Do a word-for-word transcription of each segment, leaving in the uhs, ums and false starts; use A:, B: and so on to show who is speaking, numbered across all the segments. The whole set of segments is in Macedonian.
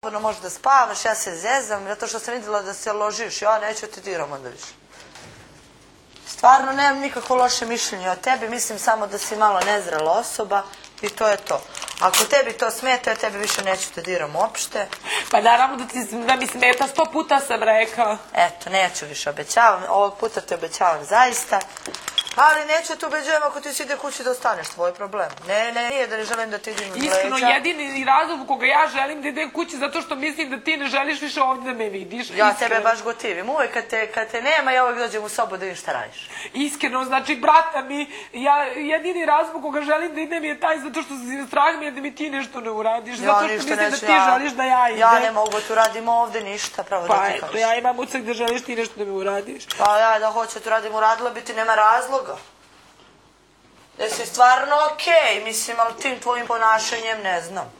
A: slobodno možeš da spavaš, ja se zezam, zato što sam vidjela da se ložiš, ja neću te diram onda više. Stvarno nemam nikako loše mišljenje o tebi, mislim samo da si malo nezrela osoba i to je to. Ako tebi to smeta, ja tebi više neću te diram uopšte.
B: Pa naravno da, ti, da mi smeta, sto puta sam rekao.
A: Eto, neću više, obećavam, ovog puta te obećavam zaista. Ali neću te ubeđujem ako ti si ide kući da ostaneš, tvoj problem. Ne, ne, nije da ne želim da ti idem iz leđa.
B: Iskreno, jedini razlog u koga ja želim da idem kući zato što mislim da ti ne želiš više ovdje da me vidiš.
A: Ja tebe baš gotivim. Uvijek kad te, kad te nema, ja uvijek dođem u sobu da vidim šta radiš.
B: Iskreno, znači, brata mi, ja jedini razlog koga želim da idem je taj zato što strah mi je da mi ti nešto ne uradiš. Zato što mislim da ti želiš da ja idem.
A: Ja ne mogu da tu radim ovdje ništa, pravo da ti kažeš.
B: Pa eto, ja imam ucak da želiš ti nešto da mi uradiš.
A: Pa ja da hoću tu radim, uradila bi ti, nema razloga. Jesi stvarno okej, mislim, ali tim tvojim ponašanjem ne znam.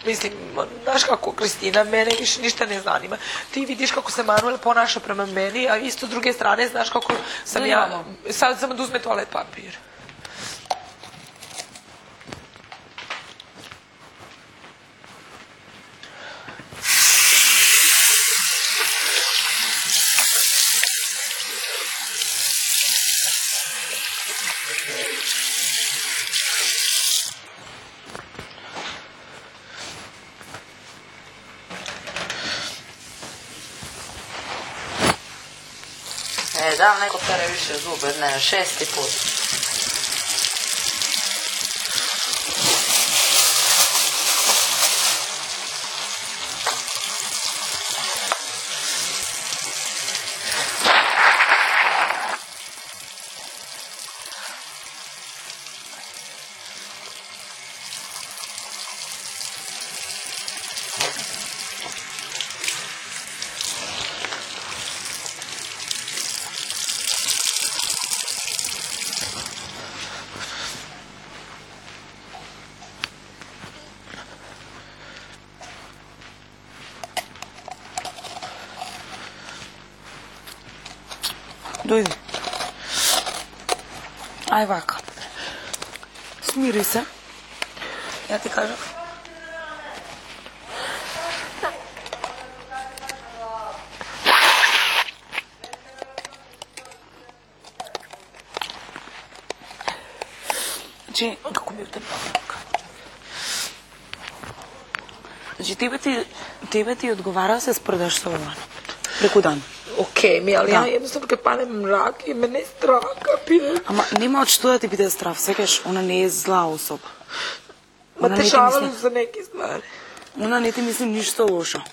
B: Mislim, znaš kako, Kristina, mene više ništa ne zanima. Ti vidiš kako se Manuel ponaša prema meni, a isto s druge strane znaš kako sam ja... Sad samo da uzme toalet papir.
A: E, da li neko pere više zube, ne, šesti put.
B: Dojdi. Aj vaka. Smiri se. Ja ti kažem. Znači, kako mi je u tebi vaka? Znači, тебе ти, тебе ти odgovara se sprdaš sa Ovanom. Preko dana. Okej, mi, ali ja jednostavno kad panem mrak i mene je strah, kapiraš?
A: Ама нема од што да ти биде страв, секаш, она не е зла особа.
B: Ма те шавали за неки ствари.
A: Она не ти мисли ништо лошо.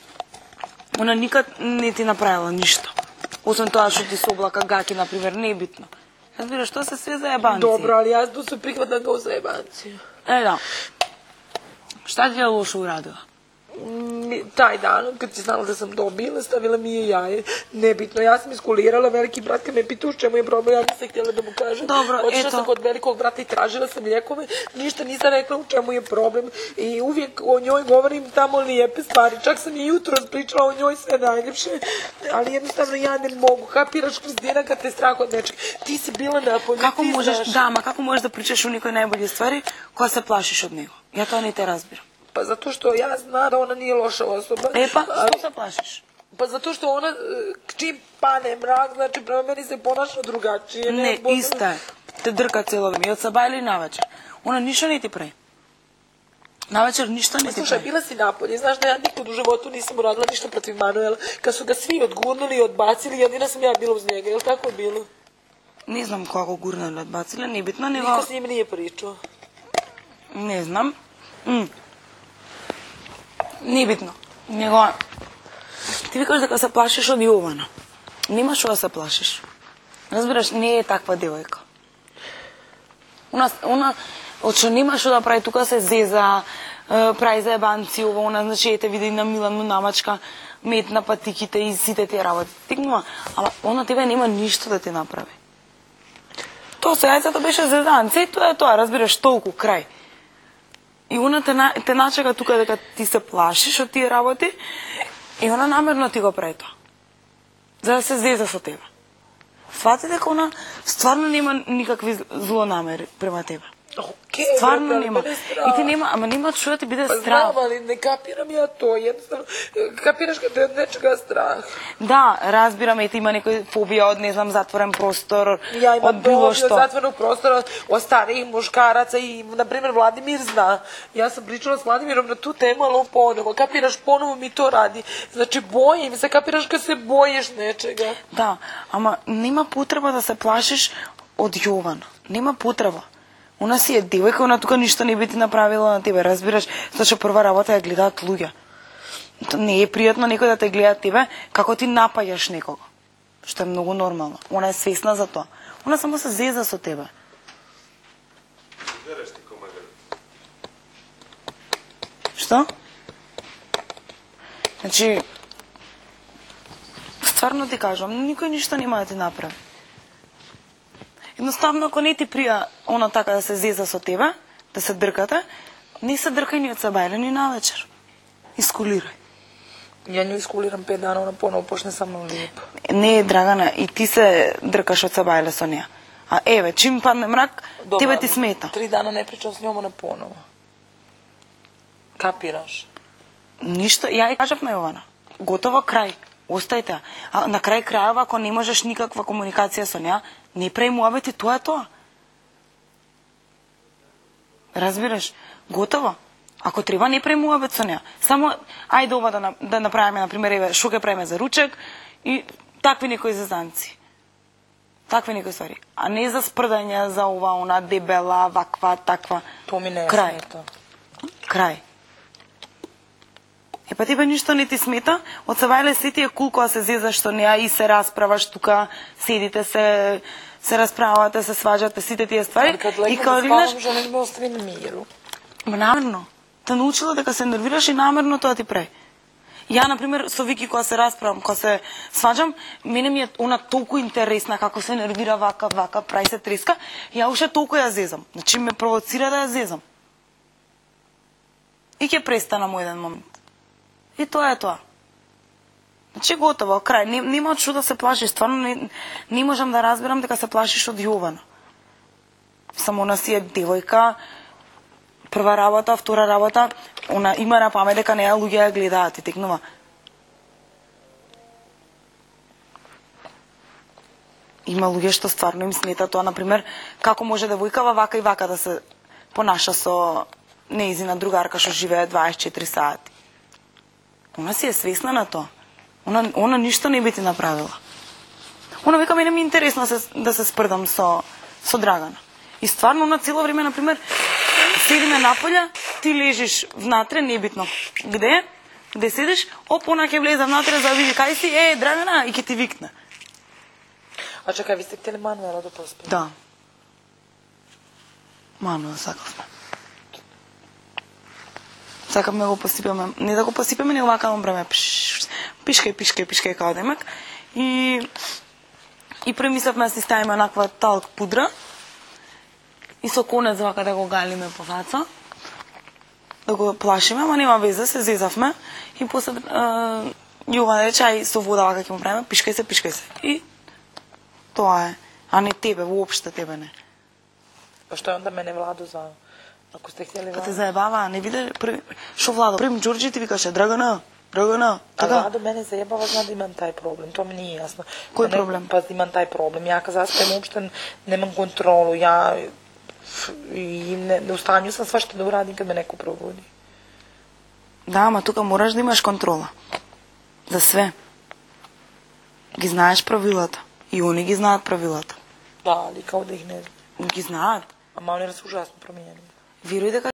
A: Она никад не ти направила ништо. Освен тоа што ти се облака гаки, например, не е битно. Разбираш, што се све за ебанци.
B: Добро, али јас да се прихватам како за ебанци.
A: Е, да. Шта ти е лошо урадила?
B: Taj dan, kad si znala da sam dobila, stavila mi je jaje. Nebitno, ja sam iskulirala, veliki brat kad me pita u čemu je problem, ja nisam htjela da mu kažem.
A: Dobro,
B: Otišla
A: eto.
B: sam kod velikog brata i tražila sam ljekove, ništa nisam rekla u čemu je problem. I uvijek o njoj govorim tamo lijepe stvari, čak sam i jutro pričala o njoj sve najljepše, ali jednostavno ja ne mogu. Kapiraš, Kristina, kad te strah od nečeg. Ti si bila napolju,
A: Како
B: ti
A: можеш,
B: znaš.
A: да, ма како можеш да причаш у некои најбољи ствари, кога се плашиш од него? Ја тоа не те разбирам.
B: Pa zato što ja znam da ona nije loša osoba.
A: E pa,
B: ali-
A: што се плашиш?
B: Pa zato što ona, e, čim pane mrak, znači prema meni se ponaša drugačije.
A: Не,
B: bo-
A: иста е. Те дрка цело време, и од саба или навечер. Она ништо не ти прави. Навечер ништо не ти
B: Slušaj,
A: прави.
B: bila si napolje, znaš da ja nikad u životu nisam uradila ništa protiv Manuela. Kad su ga svi odgurnuli i odbacili, jedina sam ja bila uz njega, je li tako bilo?
A: Не знам кога го гурнале, одбациле, не битно, него...
B: Niko s njim nije pričao.
A: Не знам. М. Не битно. Него... Ти викаш дека се плашиш од Јована. Нема што да се плашиш. Разбираш, не е таква девојка. Она, она, од што нема што да прави, тука се зеза, е, прави за ебанци, ова, она, значи, ете, види на Милану намачка, мет на патиките и сите тие работи. Тикнува, ама она тебе нема ништо да ти направи. Тоа со јајцето беше зезанце и тоа е тоа, разбираш, толку, крај. И она те, те начека тука дека ти се плашиш од тие работи И она намерно ти го прави тоа. За да се зеза со тебе. Свати дека она стварно нема никакви злонамери према тебе.
B: Окей,
A: Стварно
B: брат,
A: нема.
B: мене е страх.
A: И ти нема, ама нема што да ти биде
B: Па
A: страх.
B: знам, али не капирам ја тоа, едноставно, капираш каде од нечега страх.
A: Да, разбирам, ете има некој фобија од, не знам, затворен простор,
B: Ја имам
A: од било
B: фобија од
A: што.
B: затворен простор, од старих мушкараца и, например, Владимир зна. Јас сум причала с Владимиром на ту тему, ало поново. Капираш, поново ми то ради. Значи, боим се, капираш кога се боиш нечега.
A: Да, ама нема потреба да се плашиш од Јована. Нема потреба. Она си е девојка, она тука ништо не би ти направила на тебе, разбираш? Зашто прва работа ја гледаат луѓе. То не е пријатно некој да те гледа тебе како ти напаѓаш некого. Што е многу нормално. Она е свесна за тоа. Она само се зеза со тебе. Што? Значи, стварно ти кажувам, никој ништо нема да ти направи. Едноставно, ако не ти прија она така да се зеза со тебе, да се дркате, не се дркај ни од сабајле, ни навечер. Искулирај.
B: Ја нju искулирам пет дана, она поново почне са мной лепо.
A: Не е, Драгана, и ти се дркаш од сабајле со неа. А еве, чим падне мрак,
B: Добра,
A: тебе ти смета.
B: Три дана не причам с њом, она поново. Капираш?
A: Ништо, ја и кажав на Јована. Готово, крај. Остајте. А на крај крајава, ако не можеш никаква комуникација со неа, не прави муабет и тоа е тоа. Разбираш? Готово. Ако треба, не прави муабет со неа. Само, ајде ова да, да направиме, например, еве, шо ке правиме за ручек и такви некои зазанци. Такви некои ствари. А не за спрдање, за ова, она, дебела, ваква, таква.
B: То ми не е
A: Крај.
B: смета.
A: Крај. Е, па тебе ништо не ти смета, од сабајле се ти е кул кога се зезаш со неа и се расправаш тука, седите се, се расправате, се сваđате, сите тие ствари.
B: Али кад
A: И
B: легнем
A: кога
B: да
A: видиш,
B: спавам, жене ме остави на миру.
A: ма намерно, те научила дека се нервираш и намерно тоа ти прави. Ја, например, со Вики кога се расправам, кога се сваđам, мене ми е она толку интересна како се нервира вака, вака, прави се треска, ја уште толку ја зезам. Значи ме провоцира да ја зезам. И ќе престана мој еден момент. И тоа е тоа. Значи готово, крај. Не, нема од што да се плашиш. Стварно не, не можам да разберам дека се плашиш од Јована. Само она си е девојка, прва работа, втора работа, она има на памет дека неа луѓе ја гледаат и текнува. Има луѓе што стварно им смета тоа, например, како може девојкава вака и вака да се понаша со неизина другарка што живее дваесет и четири сати. Она си е свесна на тоа. Она, она ништо не би ти направила. Она века мене ми е интересно да се, да се спрдам со, со Драгана. И стварно, она цело време, например, седиме наполја, ти лежиш внатре, небитно где, где седиш, оп, она ќе влезе внатре за да види кај си, е, Драгана, и ќе ти викне.
B: А чекај, ви сте hteli Мануела да поспи?
A: Да. Мануел сакавме. Сакавме го посипеме, не да го посипеме, не овака на време, пишкај, пишкај, пишкај као демек. И, и премислевме да си ставиме наква талк пудра и со конец вака да го галиме по фаца, да го плашиме, ама нема везе, се зезавме и после е, Јован рече, ај со вода вака ќе му правиме, пишкај се, пишкај се. И тоа е, а не тебе, воопште тебе не.
B: Па што е онда мене Владо за... Ако сте hteli
A: Па те
B: Владо...
A: заебава, не биде први... Шо Владо? Прим Ѓорџи ти викаше, Драгана, Драгана,
B: А
A: така?
B: Владо мене заебава, зна да имам тај проблем, тоа ми не е јасно.
A: Кој
B: Па не-
A: проблем?
B: Па имам тај проблем. Ја каза, аз тема уопште немам контролу, ја и не, не устанju сам свашто да урадим кад ме неко пробуди.
A: Да, ама тука мораш да имаш контрола. За све. Ги знаеш правилата. И они ги знаат правилата.
B: Да, али као да их не...
A: Ги знаат.
B: Ама они се ужасно променени.
A: Веруј дека